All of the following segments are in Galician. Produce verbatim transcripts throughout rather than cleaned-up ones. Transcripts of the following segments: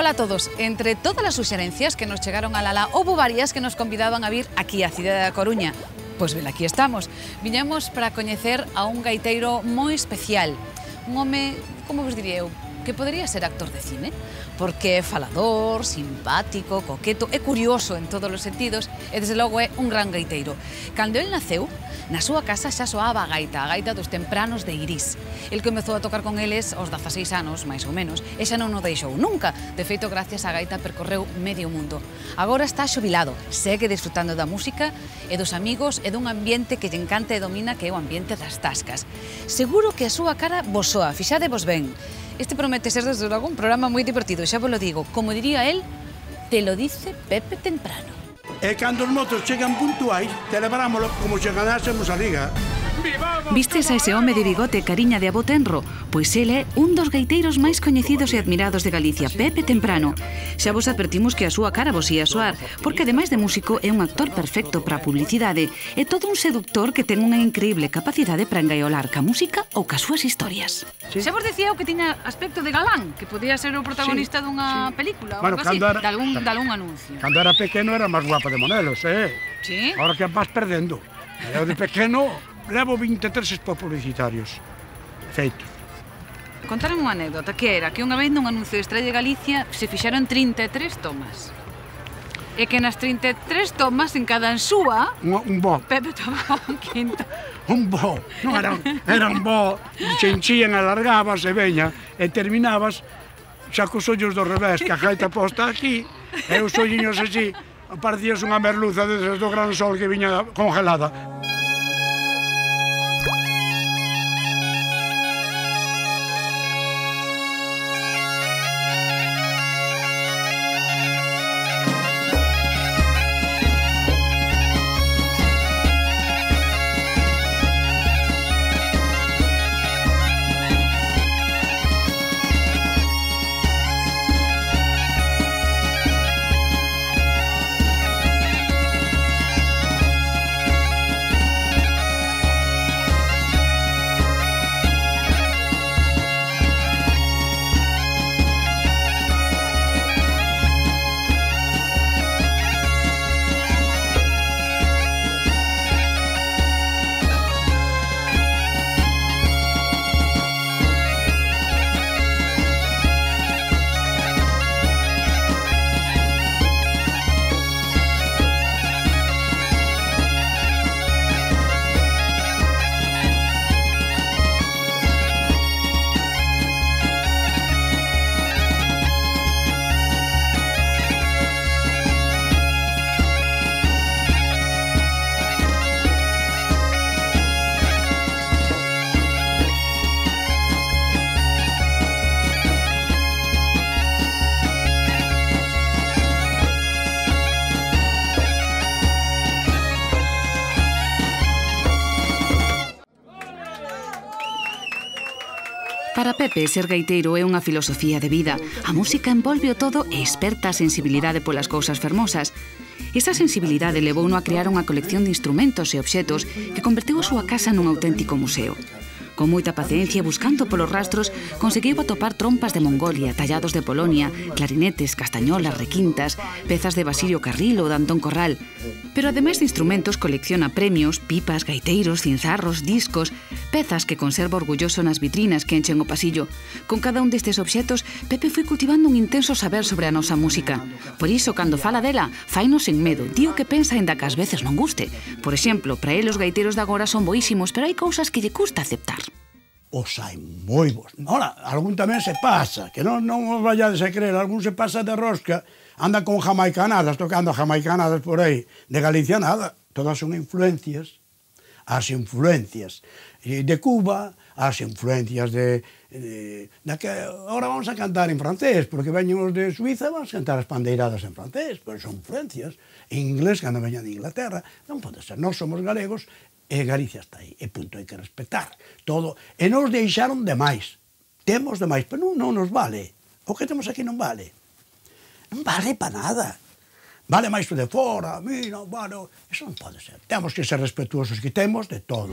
Ola a todos. Entre todas as suxerencias que nos chegaron a Lala, houbo varias que nos convidaban a vir aquí á cidade da Coruña. Pois ben, aquí estamos. Viñamos para coñecer a un gaiteiro moi especial. Un home, como vos diría eu, que podería ser actor de cine, porque é falador, simpático, coqueto, é curioso en todos os sentidos e, desde logo, é un gran gaiteiro. Cando el naceu, na súa casa xa soaba a gaita, a gaita dos tempranos de Irís. El comezou a tocar con eles aos dezaseis anos, máis ou menos, e xa non o deixou nunca. De feito, gracias á gaita percorreu medio mundo. Agora está xubilado, segue disfrutando da música e dos amigos e dun ambiente que lle encanta e domina, que é o ambiente das tascas. Seguro que a súa cara vos soa, fixadevos ben. Este promete ser, desde logo, un programa moi divertido, xa vos lo digo. Como diría él, te lo dice Pepe Temprano. E cando os motos chegan puntuais, celebrámoslo como se ganásemos a liga. Vistes a ese home de bigote e cariña de avó tenro? Pois el é un dos gaiteiros máis coñecidos e admirados de Galicia, Pepe Temprano. Xa vos advertimos que a súa cara vos ia soar, porque ademais de músico é un actor perfecto para a publicidade e todo un seductor que ten unha increíble capacidade para engaiolar ca música ou ca súas historias. Sí. Xa vos decía eu que tiña aspecto de galán, que podía ser o protagonista sí, dunha sí. película ou bueno, algo así, era, de algún, de algún anuncio. Cando era pequeno era máis guapa de Monelos, eh? Sí? Ahora que vas perdendo. Eu de pequeno levo vinte e tres spots publicitarios feitos. Contaron unha anécdota, que era que unha vez nun anuncio de Estrella de Galicia se fixaron trinta e tres tomas. E que nas trinta e tres tomas, en cada ensúa, un, un bo. Pepe tomaba un quinto. Un bo, non era, era un bo, se enchían, alargabas e veña, e terminabas xa cos ollos do revés, que a gaita posta aquí, e os olliños así, parecías unha merluza desde do gran sol que viña congelada. Para Pepe, ser gaiteiro é unha filosofía de vida. A música envolve o todo e esperta a sensibilidade polas cousas fermosas. Esa sensibilidade levouno a crear unha colección de instrumentos e obxetos que converteu a súa casa nun auténtico museo. Con moita paciencia, buscando polos rastros, conseguiu atopar trompas de Mongolia, tallados de Polonia, clarinetes, castañolas, requintas, pezas de Basilio Carril ou de Antón Corral. Pero ademais de instrumentos, colecciona premios, pipas, gaiteiros, cinzarros, discos, pezas que conserva orgulloso nas vitrinas que enchen o pasillo. Con cada un destes obxetos, Pepe foi cultivando un intenso saber sobre a nosa música. Por iso, cando fala dela, fainos sen medo, di o que pensa ainda que ás veces non guste. Por exemplo, para el os gaiteiros de agora son boísimos, pero hai cousas que lle custa aceptar. Os hai moi bons. Ora, algún tamén se pasa, que non, non os vayades a creer, algún se pasa de rosca, anda con jamaicanadas, tocando jamaicanadas por aí, de Galicia nada, todas son influencias, as influencias de Cuba, as influencias de... de, de que ahora vamos a cantar en francés, porque veñen os de Suiza, vamos a cantar as pandeiradas en francés, pero son influencias, en inglés, cando veñan de Inglaterra, non pode ser, nós somos galegos, e Galicia está aí, e punto, hai que respetar todo, e nos deixaron demais, temos demais, pero non, non nos vale, o que temos aquí non vale, non vale para nada, vale máis o de fora, mira, bueno, eso non pode ser, temos que ser respetuosos, que temos de todo.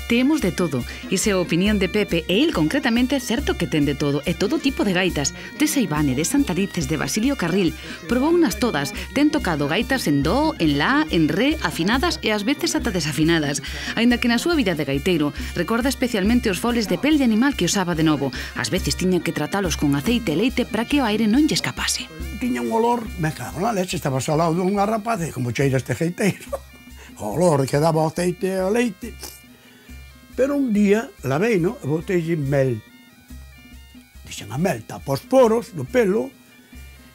Temos de todo. Esa é a opinión de Pepe, e el concretamente é certo que ten de todo, e todo tipo de gaitas, de Seivane, de Santarices, de Basilio Carril. Probou unas todas, ten tocado gaitas en do, en la, en re, afinadas e ás veces ata desafinadas. Aínda que na súa vida de gaiteiro recorda especialmente os foles de pel de animal que usaba de novo. Ás veces tiña que tratalos con aceite e leite para que o aire non lle escapase. Tiña un olor, me cago na leche, estaba ao lado dunha rapaz, e como cheira este gaiteiro, o olor que daba o aceite e o leite. Pero un día, lavei, no? E botei mel. Dixen, a mel tapa os poros do pelo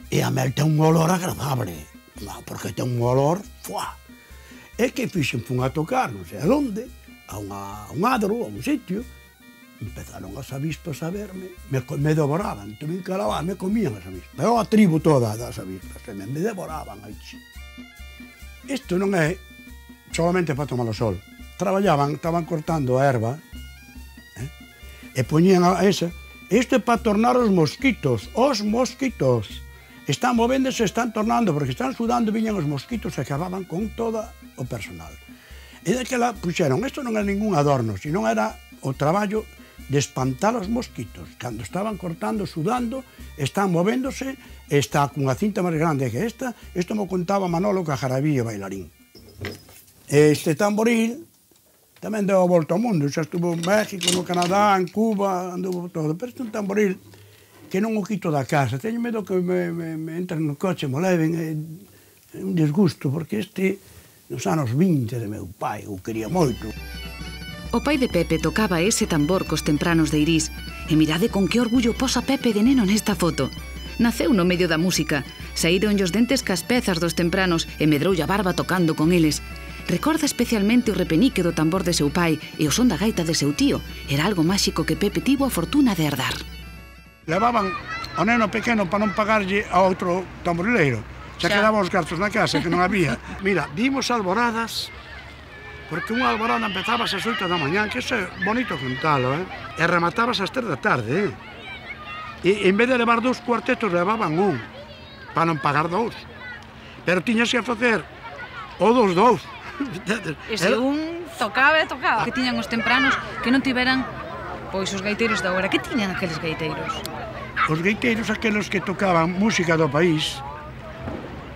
e a mel ten un olor agradable. No, porque ten un olor, fuá. E que fixen, fun a tocar, non sei a onde, a, unha, a un adro, a un sitio, empezaron as avispas a verme, me, me devoraban, tuve que lavar, me comían as avispas. Eu a tribu toda das avispas, e me, me devoraban aí. Isto non é solamente para tomar o sol. Traballaban, estaban cortando a erva, eh, e poñían a esa. Isto é para tornar os mosquitos, os mosquitos. Están movéndose, están tornando, porque están sudando, viñan os mosquitos e acababan con todo o personal. E daquela puxeron, isto non é ningún adorno, sino era o traballo de espantar os mosquitos. Cando estaban cortando, sudando, están movéndose, está cunha cinta máis grande que esta, isto me contaba Manolo Cajarabí, bailarín. Este tamboril tamén deu a volta ao mundo, xa estuvo en México, no Canadá, en Cuba, anduvo todo. Pero este é un tamboril que non o quito da casa. Teño medo que me, me, me entren no coche, me leven, é, é un disgusto, porque este, nos anos vinte de meu pai, o quería moito. O pai de Pepe tocaba ese tambor cos tempranos de Irís, e mirade con que orgullo posa Pepe de neno nesta foto. Naceu no medio da música, saíron os dentes cas pezas dos tempranos e medroulle a barba tocando con eles. Recorda especialmente o repenique do tambor de seu pai e o son da gaita de seu tío. Era algo máxico que Pepe tivo a fortuna de herdar. Levaban ao neno pequeno para non pagarlle a outro tamborileiro. Xa quedaban os cartos na casa, que non había. Mira, vimos alboradas, porque unha alborada empezaba ás oito da mañán, que iso é bonito contalo, eh? E rematabas ás tres da tarde, eh? E en vez de levar dous cuartetos, levaban un, para non pagar dous. Pero tiñas que facer o dos dous. E se un tocaba e tocaba. Que tiñan os tempranos que non tiveran, pois, os gaiteiros da hora. Que tiñan aqueles gaiteiros? Os gaiteiros, aqueles que tocaban música do país,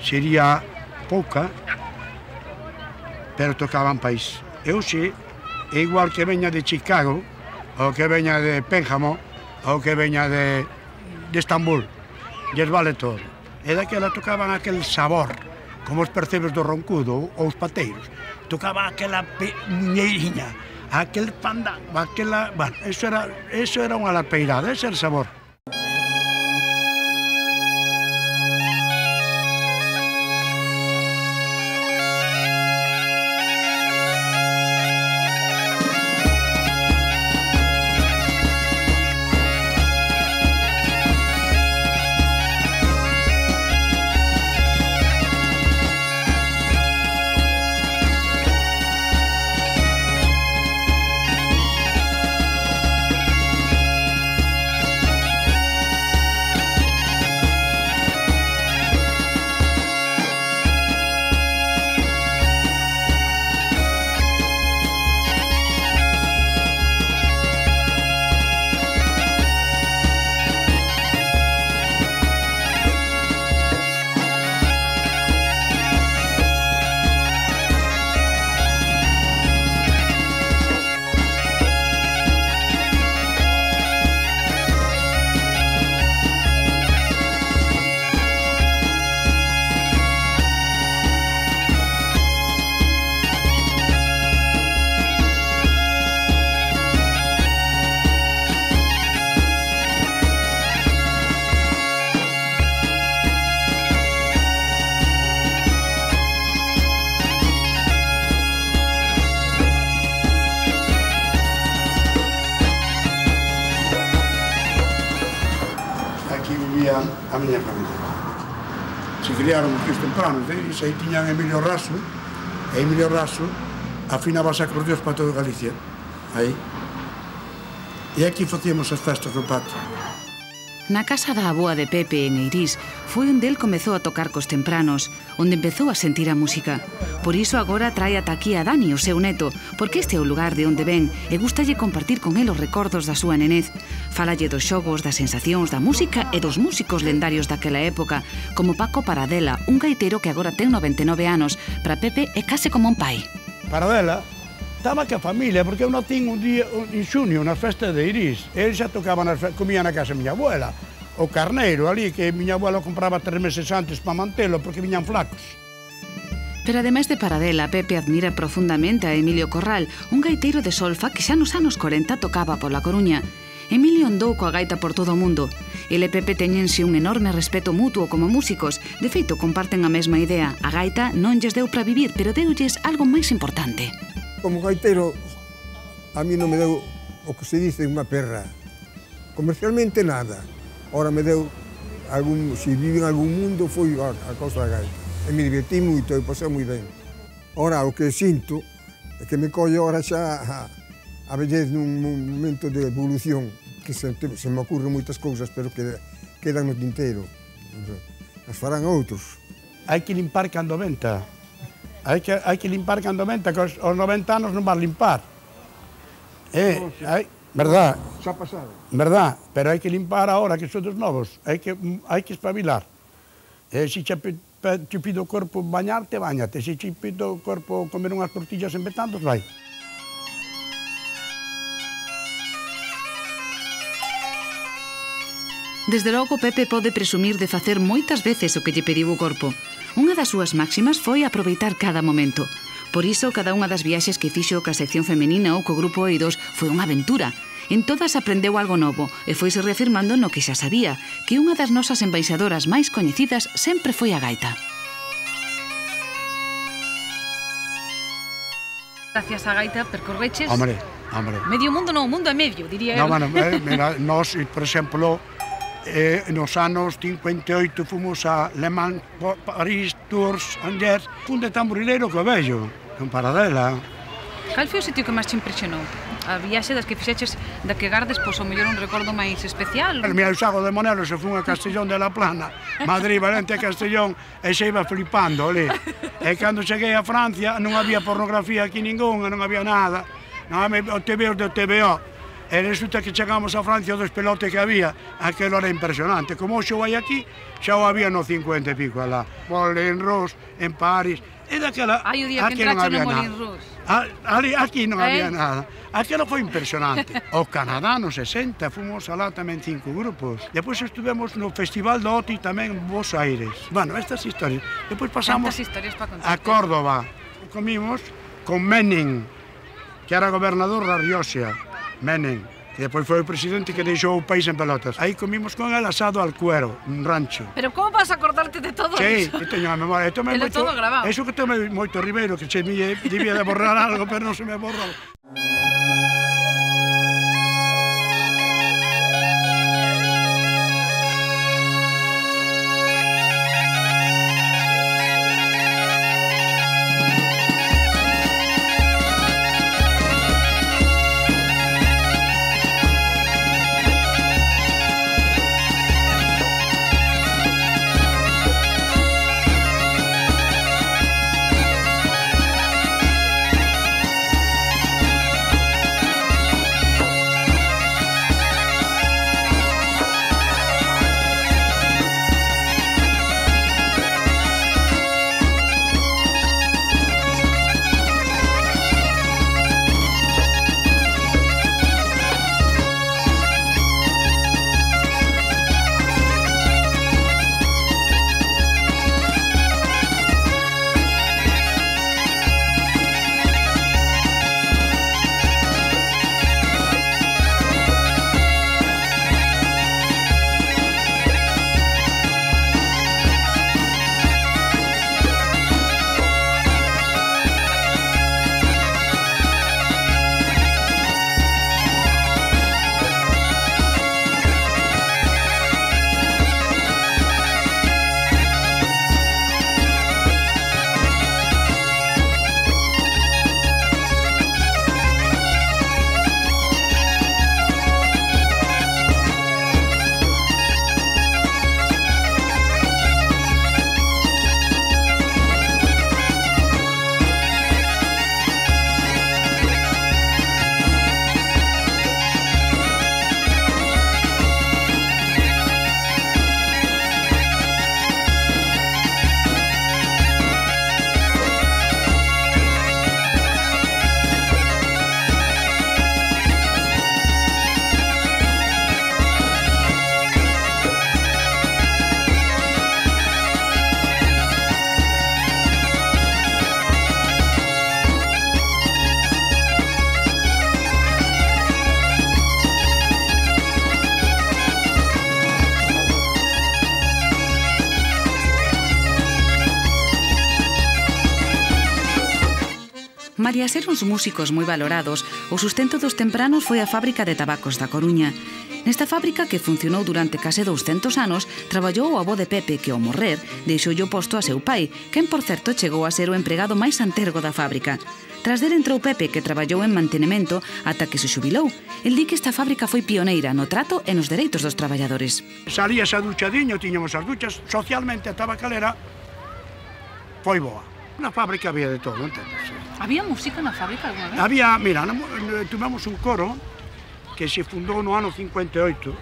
sería pouca, pero tocaban país. E hoxe, é igual que veña de Chicago, ou que veña de Pénjamo, ou que veña de, de Estambul. Lles vale todo. E daquela tocaban aquel sabor, como os percebes do roncudo ou os pateiros. Tocaba aquela muñeiriña, aquel pandango, aquela... Bueno, eso era, eso era unha lapeirada, ese era o sabor. A miña familia. Se criaron os tempranos, e aí tiñan Emilio Raso, e Emilio Raso afinaba os acordeóns para toda Galicia, aí. E aquí facíamos as festas do patio. Na casa da aboa de Pepe, en Eirís, foi onde el comezou a tocar cos tempranos, onde empezou a sentir a música. Por iso agora trae ata aquí a Dani, o seu neto, porque este é o lugar de onde ven e gustalle compartir con el os recordos da súa nenez. Fálalle dos xogos, das sensacións, da música e dos músicos lendarios daquela época, como Paco Paradela, un gaitero que agora ten noventa e nove anos. Para Pepe é case como un pai. Paradela estaba ca familia, porque eu natín un día en xunio, na festa de Eirís. Ele xa tocaba, nas, comía na casa da miña abuela. O carneiro ali, que miña abuela compraba tres meses antes para mantelo, porque viñan flacos. Pero ademais de Paradela, Pepe admira profundamente a Emilio Corral, un gaiteiro de solfa que xa nos anos corenta tocaba pola Coruña. Emilio andou coa gaita por todo o mundo. Ele e Pepe teñense un enorme respeto mutuo como músicos. De feito, comparten a mesma idea. A gaita non lles deu para vivir, pero deulles algo máis importante. Como gaiteiro, a mí non me deu o que se dice unha perra. Comercialmente nada. Ora me deu, algún, se vive en algún mundo, foi a, a cosa da gaita. E me divertí moito e pasei moi ben. Ora, o que sinto é que me colle ora xa a, a vellez nun momento de evolución, que se, se me ocurren moitas cousas, pero que quedan no tinteiro. As farán outros. Hai que limpar cando venta. Hai que, hai que limpar cando venta, que aos, aos noventa anos non vas limpar. Eh, hai, verdad? Xa pasado. Verdad, pero hai que limpar ahora, que son dos novos. Hai que, hai que espabilar. Eh, se che, che pido o corpo bañarte, bañate. Se che pido o corpo comer unhas tortillas en Betandos, vai. Desde logo, Pepe pode presumir de facer moitas veces o que lle pediu o corpo. Unha das súas máximas foi aproveitar cada momento. Por iso, cada unha das viaxes que fixo ca sección femenina ou co grupo Eidos foi unha aventura. En todas aprendeu algo novo e foise reafirmando no que xa sabía, que unha das nosas embaixadoras máis coñecidas sempre foi a gaita. Gracias a gaita percorreches... Hombre, hombre. Medio mundo non, mundo e medio, diría eu. No, bueno, eh, mira, nós, por exemplo, eh, nos anos cincuenta e oito fomos a Le Mans, París, Tours, Angers, un de tamborileiro que vello, con Paradela. Cal foi o sitio que máis te impresionou? A viaxe das que fixeches, da que gardes, pois, o mellor un recordo máis especial? Mira, o Sago de Monelo se fun a Castellón de la Plana, Madrid, Valencia, Castellón, e se iba flipando, ali. E cando cheguei a Francia, non había pornografía aquí ningunha, non había nada. Non había o T V O do T V O. E resulta que chegamos a Francia, dos pelotes que había, aquilo era impresionante. Como xo vai aquí, xa o había no cincuenta e pico alá. Moulin Rouge, en París, e daquela... Ai, o día que entrache no Moulin Rouge. Ali, aquí non eh? había nada. Aquilo foi impresionante. O Canadá, no sesenta, fomos alá tamén cinco grupos. Depois estuvemos no Festival do Oti tamén en Buenos Aires. Bueno, estas historias. Depois pasamos a Córdoba. Comimos con Menem, que era gobernador da Rioxa. Menem, que depois foi o presidente que deixou o país en pelotas. Aí comimos con el asado al cuero, un rancho. Pero como vas a acordarte de todo sí, eso? Sí, teño a memoria. Telo moito, todo grabado. Eso que tome moito Ribeiro, que se me debía de borrar algo, pero non se me borrou. Malia ser uns músicos moi valorados, o sustento dos tempranos foi a fábrica de tabacos da Coruña. Nesta fábrica, que funcionou durante case douscentos anos, traballou o avó de Pepe, que ao morrer deixoulle o posto a seu pai, quen, por certo, chegou a ser o empregado máis antergo da fábrica. Tras del entrou Pepe, que traballou en mantenemento ata que se xubilou. El di que esta fábrica foi pioneira no trato e nos dereitos dos traballadores. Salías a duchadiño, tiñamos as duchas, socialmente a tabacalera foi boa. Na fábrica había de todo, entendes? Había música na fábrica alguna vez? Había, mira, tuvemos un coro que se fundou no ano cincuenta e oito.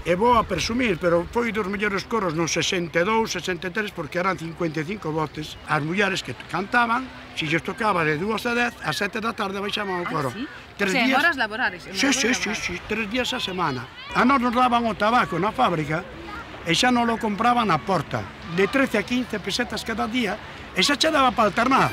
É bo a presumir, pero foi dos mellores coros no sesenta e dous, sesenta e tres, porque eran cincuenta e cinco voces. As mulleres que cantaban, se lles tocaba de dúas a dez, a sete da tarde baixaban o coro. Ah, sí? Tres o sea, días... en horas laborares. En sí, sí, sí, sí, tres días a semana. A nós nos daban o tabaco na fábrica e xa non lo compraban na porta, de trece a quince pesetas cada día, e xa che daba para alternar.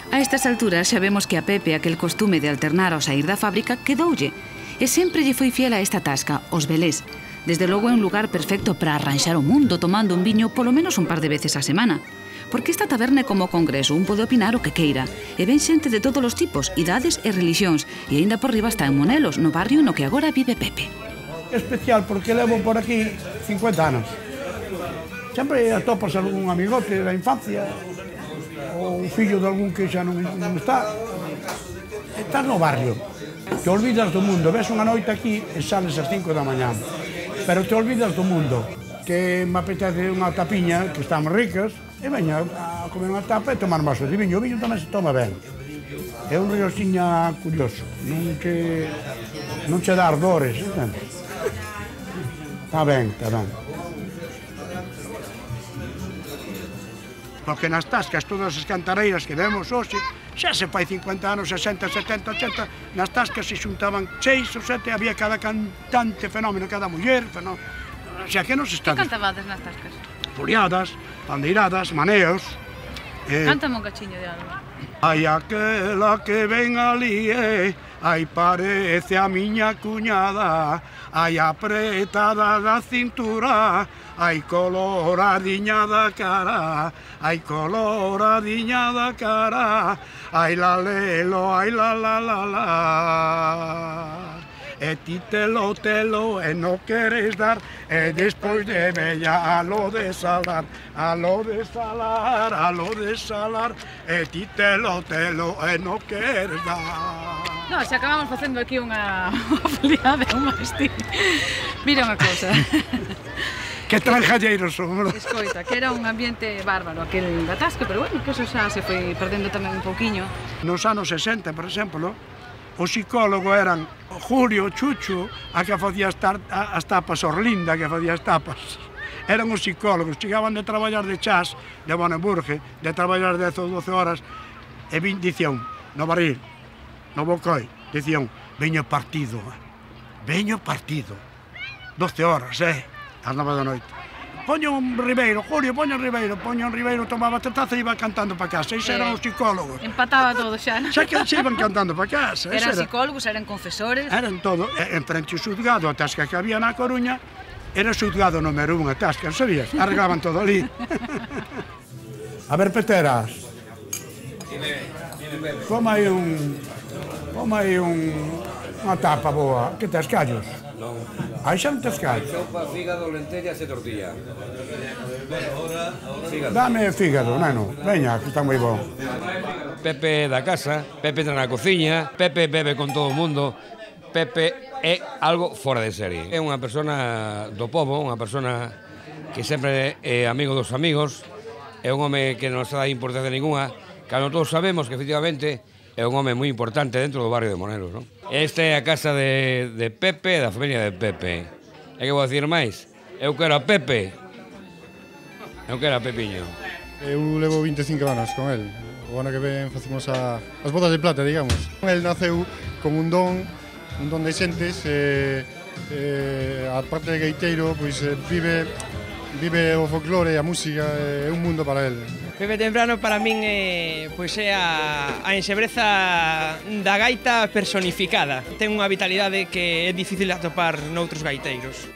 A estas alturas xa vemos que a Pepe aquel costume de alternar ao sair da fábrica quedoulle, e sempre lle foi fiel a esta tasca, os velés. Desde logo é un lugar perfecto para arranxar o mundo tomando un viño polo menos un par de veces a semana. Porque esta taberna é como congreso, un pode opinar o que queira. E ven xente de todos os tipos, idades e religións, e aínda por riba está en Monelos, no barrio no que agora vive Pepe. É especial porque levo por aquí cincuenta anos. Sempre atopas algún amigote da infancia, ou un fillo de algún que xa non, non está. Estás no barrio, te olvidas do mundo, ves unha noite aquí e sales ás cinco da mañá, pero te olvidas do mundo, que me apetece unha tapiña, que están ricas, e veña a comer unha tapa e tomar un vaso de viño. O viño tamén se toma ben. É un rioxiña curioso, non che, non che dá ardores, entendes? Está ben, está ben. Porque nas tascas, todas as cantareiras que vemos hoxe, xa se fai cincuenta anos, sesenta, setenta, ochenta, nas tascas se xuntaban seis ou sete, había cada cantante fenómeno, cada muller, fenómeno. O sea, que nos está... Que cantabades nas tascas? Furiadas, pandeiradas, maneos... Eh... Cántame un cachiño de algo. Ai, aquela que ven ali, eh, ai, parece a miña cuñada, ai, apretada da cintura, ai, coloradiña da cara, ai, coloradiña da cara, ai, la lelo, ai, la la la la. E ti telo, telo, e non queres dar, e despois de bella a lo de salar, a lo de salar, a lo de salar, e ti telo, telo, e non queres dar. No, xa acabamos facendo aquí unha foliada, un mastín. Mira unha cousa. Que tranjalleiros somos. Escoita, que era un ambiente bárbaro aquel atasque, pero bueno, que eso xa se foi perdendo tamén un pouquiño. Nos anos sesenta, por exemplo, o psicólogo eran Julio, Chucho, a que facía as tapas, Orlinda, que facía as tapas. Eran os psicólogos, chegaban de traballar de chas, de Boneburge, de traballar dez ou doce horas, e vin, dicían, no barril, no bocoi, dicían, veño partido, veño partido, doce horas, eh, ás nove da noite. Poño un Ribeiro, Julio, poño un Ribeiro, poño un Ribeiro, tomaba taza e iba cantando para casa. Esos eran os psicólogos. Empataba todo xa, non? Xa que se iban cantando para casa. Eran psicólogos, eran confesores. Eran todo. En frente ao xuzgado, a tasca que había na Coruña, era o xuzgado número un, a tasca, sabías? Arreglaban todo ali. A ver, Peteras. Como hai un... Como hai un... unha tapa boa. Que tes callos? Non. Aí xa non tes callos. Sopa, fígado, lentellas e tortilla. Dame fígado, neno. Veña, que está moi bon. Pepe da casa, Pepe entra na cociña, Pepe bebe con todo o mundo, Pepe é algo fora de serie. É unha persona do povo, unha persona que sempre é amigo dos amigos, é un home que non se dá importancia ninguna, cando todos sabemos que efectivamente é un home moi importante dentro do barrio de Monelos, non? Esta é a casa de, de Pepe, da familia de Pepe. E que vou dicir máis? Eu quero a Pepe. Eu quero a Pepiño. Eu levo vinte e cinco anos con el. O ano que ven facemos a, as bodas de plata, digamos. El naceu con un don, un don de xentes, e, e a parte de gaiteiro, pois vive, vive o folclore, a música, é un mundo para el. Pepe Temprano para min é, pois é a, a enxebreza da gaita personificada. Ten unha vitalidade que é difícil de atopar noutros gaiteiros.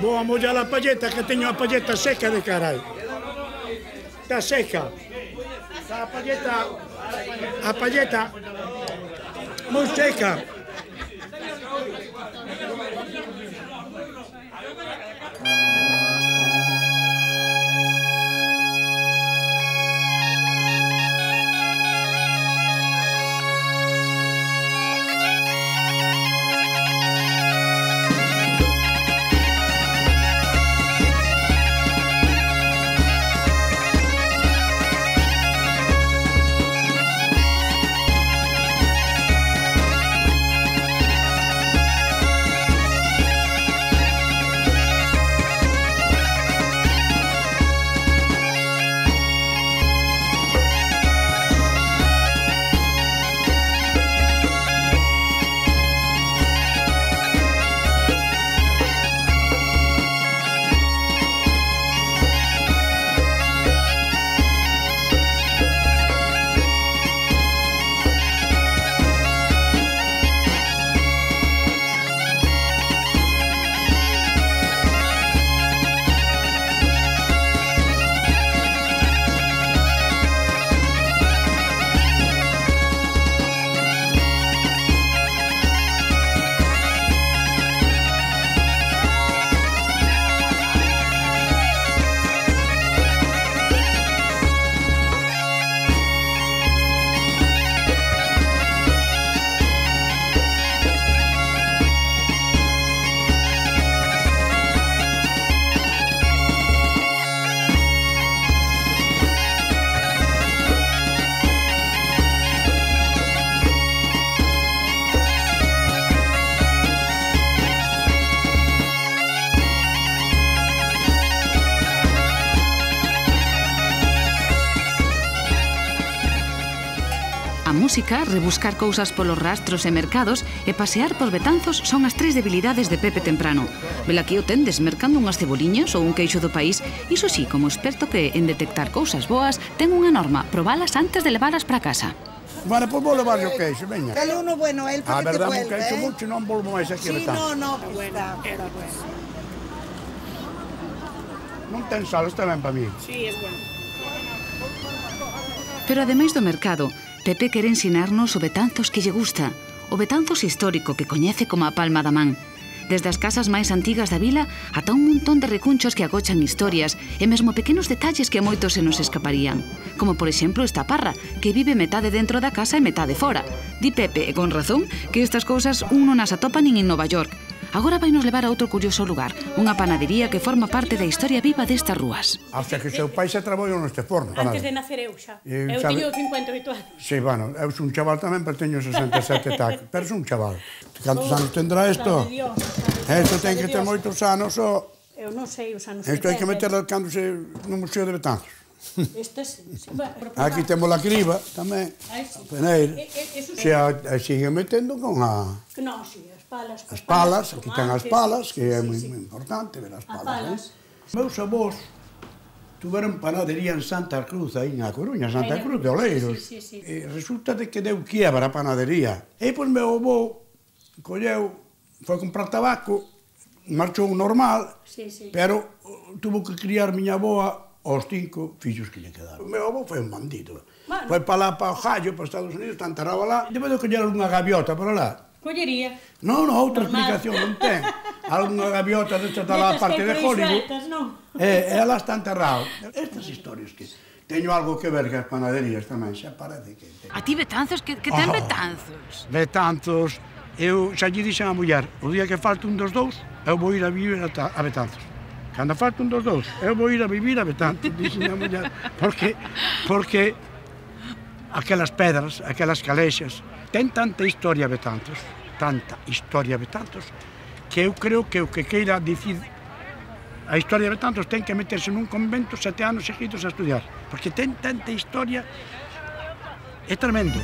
Vou a mollar a palleta, que teño a palleta seca de carai. Está seca. A palleta, a palleta, moi seca. música, rebuscar cousas polos rastros e mercados e pasear por Betanzos son as tres debilidades de Pepe Temprano. Velaquí o tendes mercando unhas ceboliñas ou un queixo do país, iso sí, como experto que en detectar cousas boas ten unha norma, probalas antes de levalas para casa. Vale, pois vou levar o queixo, veña. Dale uno bueno, el A porque te verdad, vuelve, un queixo ¿eh? mucho, non volvo máis aquí a Sí, Betanzos. no, no, está, está bueno. Non ten sal, está ben para mí. Sí, es bueno. Pero ademais do mercado, Pepe quere ensinarnos o Betanzos que lle gusta, o Betanzos histórico que coñece como a palma da man. Desde as casas máis antigas da vila ata un montón de recunchos que agochan historias e mesmo pequenos detalles que a moitos se nos escaparían. Como, por exemplo, esta parra, que vive metade dentro da casa e metade fora. Di Pepe, e con razón, que estas cousas un non as atopa nin en Nova York. Agora vai nos levar a outro curioso lugar, unha panadería que forma parte da historia viva destas rúas. Hasta que seu pai se traballou neste forno. Antes de nacer eu xa. E Eu sabe- teño cincuenta e oito anos. Sí, bueno, eu son un chaval tamén, pero teño sesenta e sete tacos. Pero son un chaval. Cantos anos tendrá isto? Sabe Dios, Isto sabe ten que ter Dios. moitos anos, o... Eu non sei os anos Isto hai que setenta. meterlo cando se... no Museo de Betanzos. Estes, sí, bueno, pero- Aquí temos a criba, tamén. Ai, sí. Peneira. E- e- eso Se sí. a, a sigue metendo con a... Que non, sí, as palas. As palas, aquí ten as tomates, palas, que é sí, moi sí. moi importante ver as As palas. palas. Eh? Meus avós tuveron panadería en Santa Cruz, aí na Coruña, Santa Aí na- Cruz de Oleiros. sí, sí, sí. E resulta de que deu quiebra a panadería. E pois meu avó colleu, foi comprar tabaco, marchou normal, Sí, sí. pero uh, tuvo que criar miña avoa aos cinco fillos que lle quedaron. O meu avó foi un bandido. Bueno. Foi para lá, para o Jallo, para Estados Unidos, está enterrado lá. Debe de coller unha gaviota para lá. Collería. Non, non, outra Normal. explicación non ten. Algunha gaviota desta está lá a Destas parte que de hai por aí Hollywood. sueltas, non? E ela está enterrado. Estas historias que teño algo que ver que as panaderías tamén, xa parece que... A ti Betanzos, que, que ten Oh. Betanzos? Betanzos, eu xa lle dixen a muller, o día que falte un dos dous, eu vou ir a vivir a, ta- a Betanzos. Cando falte un dos dous, eu vou ir a vivir a Betanzos, dixen a muller, porque, porque aquelas pedras, aquelas calexas, ten tanta historia Betanzos, tanta historia Betanzos, que eu creo que o que queira dicir a historia de Betanzos ten que meterse nun convento sete anos seguidos a estudiar, porque ten tanta historia, é tremendo.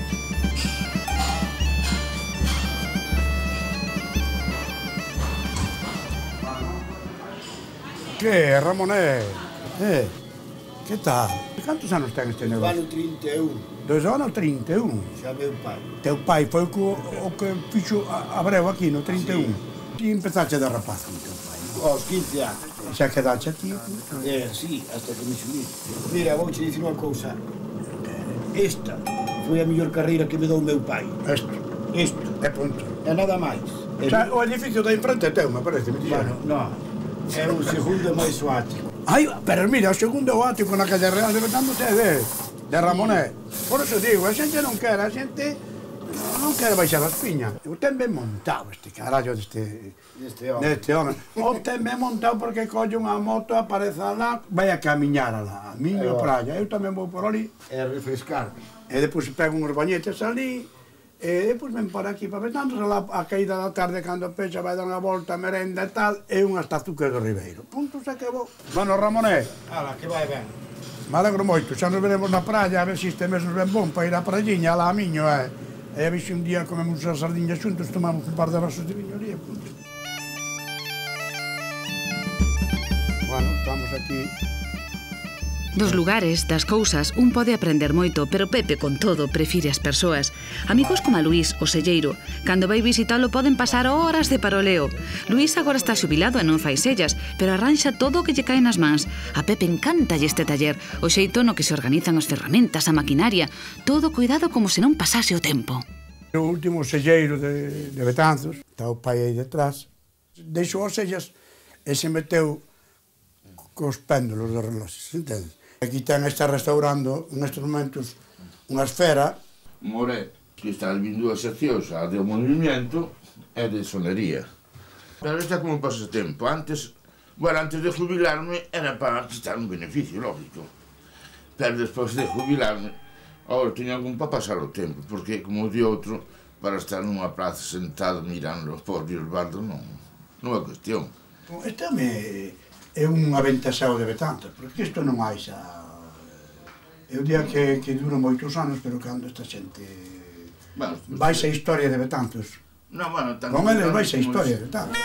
Que, Ramoné? Eh, que tal? Cantos anos ten este negocio? Ano trinta e un, Dos anos trinta e un. xa meu pai. Teu pai foi o que, o que fixo a, a breu aquí no trinta e un. Ti empezaste de rapaz con teu pai, non? Aos quince anos. Xa quedaste aquí. Eh, sí, hasta que me subí. Mira, vou te dicir unha cousa. Esta foi a mellor carreira que me dou o meu pai. Isto. Isto. É punto. E nada máis. O sea, o edificio da enfrente é teu, me parece. Me Bueno, non. É o segundo máis o ático. Ai, pero mira, o segundo é o ático na calle Real de Betán de, de Ramoné. Por eso digo, a xente non quere, a xente non quere baixar as piñas. O ten ben montado este carallo deste, Deste home. deste home. O ten ben montado porque colle unha moto, aparece alá, vai a camiñar alá, a miña praia. Eu tamén vou por ali. É refrescarme. E depois pego uns bañetes ali, e depois ven por aquí para Betán, a, a caída da tarde, cando pecha, vai dar unha volta, merenda e tal, e unhas tazucas do Ribeiro. Punto, se acabou. Bueno, Ramoné, Ala, que vai ben. me alegro moito, xa nos veremos na praia, a ver se este mes nos ven bon para ir á praiña, alá a miño, eh. E a ver se un día comemos as sardiñas xuntos, tomamos un par de vasos de viño ali, punto. Bueno, estamos aquí. Dos lugares, das cousas, un pode aprender moito, pero Pepe, con todo, prefire as persoas. Amigos como a Luís, o selleiro. Cando vai visitalo poden pasar horas de paroleo. Luís agora está xubilado e non fai sellas, pero arranxa todo o que lle cae nas mans. A Pepe encántalle este taller, o xeito no que se organizan as ferramentas, a maquinaria. Todo cuidado como se non pasase o tempo. O último selleiro de, de Betanzos, está o pai aí detrás, deixou as sellas e se meteu cos péndulos dos reloxes, entendes? Aquí ten, está restaurando nestes momentos unha esfera. More, que está vindo dúas seccións, a de movimento e de sonería. Pero está como pasatempo. Antes, bueno, antes de jubilarme era para quitar un beneficio, lógico. Pero despois de jubilarme, agora teño algún para pasar o tempo, porque, como di outro, para estar nunha plaza sentado mirando os porbios bardos non, non é cuestión. Este me... é un aventaseo de Betanzos, porque isto non hai xa... É un día que, que dura moitos anos, pero cando esta xente... Bueno, vais a historia de Betanzos. Non, bueno, tan... Con eles vais a historia de Betanzos.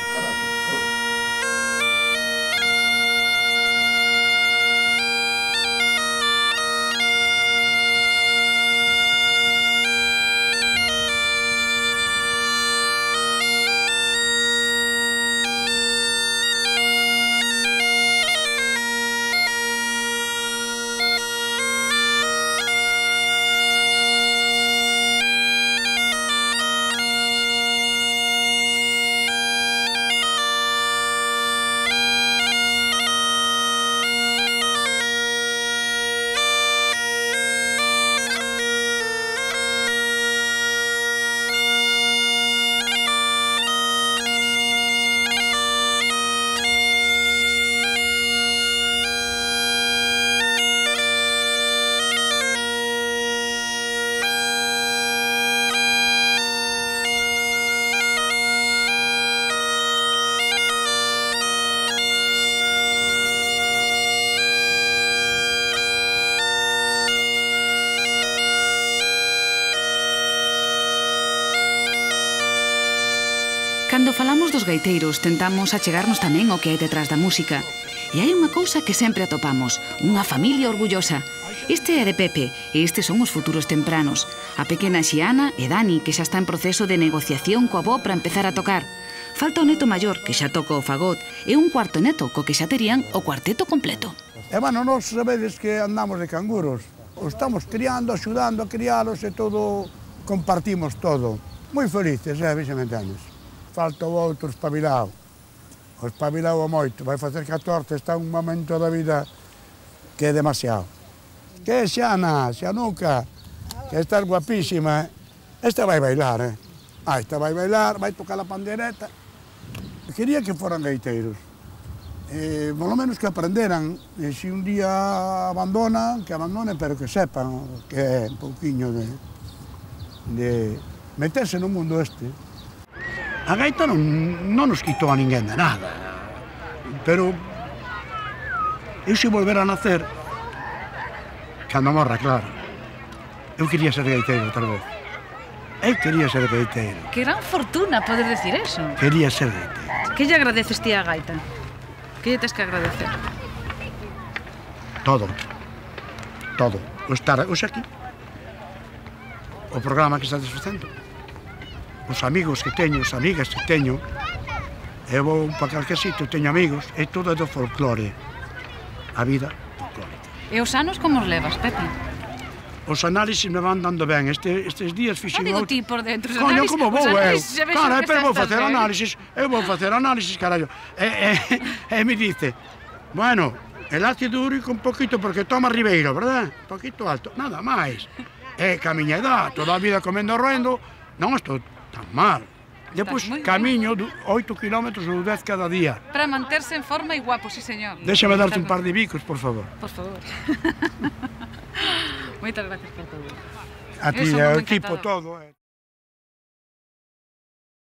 Cando falamos dos gaiteiros, tentamos achegarnos tamén ao que hai detrás da música. E hai unha cousa que sempre atopamos, unha familia orgullosa. Este é de Pepe, e estes son os futuros tempranos. A pequena Xiana e Dani, que xa está en proceso de negociación coa avó para empezar a tocar. Falta o neto maior, que xa toca o fagot, e un cuarto neto, co que xa terían o cuarteto completo. E, bueno, nós sabedes que andamos de canguros. Os estamos criando, axudando a crialos e todo, compartimos todo. Moi felices, eh, vexe me entendes. Falta o outro espabilado. O espabilado moito, vai facer catorce, está un momento da vida que é demasiado. Que Xiana, Xianuca, que estás guapísima, eh? Esta vai bailar, eh? Ah, esta vai bailar, vai tocar a pandereta. Quería que foran gaiteiros. Eh, por lo menos que aprenderan, e se un día abandonan, que abandonen, pero que sepan que é un pouquiño de, de meterse no mundo este. A gaita non, non nos quitou a ninguén de nada, pero eu se volver a nacer, cando morra, claro, eu quería ser gaiteiro outra vez. Eu quería ser gaiteiro. Que gran fortuna poder decir eso. Quería ser gaiteiro. Que lle agradeces ti a gaita? Que lle tes que agradecer? Todo. Todo. O estar hoxe aquí. O programa que estás facendo. Os amigos que teño, as amigas que teño. Eu vou para calquer sitio, teño amigos. É todo do folclore. A vida folclórica. E os anos como os levas, Pepe? os análisis me van dando ben. Este, estes días Ah, fixen... digo outro- ti por dentro. os Coño, análisis- como os vou eu? análisis xa vexo Cara, que pero xa vou estás facer ben. análisis, eu vou facer análisis, carallo. E, e, e me dice, bueno, el ácido úrico un poquito porque toma Ribeiro, verdad? Un poquito alto, nada máis. E ca miña edad, toda a vida comendo roendo, non estou tan mal. Depois moi ben. camiño du- oito kilómetros ou dez cada día. Para manterse en forma e guapo, sí, señor. Déxame darte un par de bicos, por favor. Por favor. Moitas gracias por todo. A ti Eso, e moi o equipo encantado. todo. eh.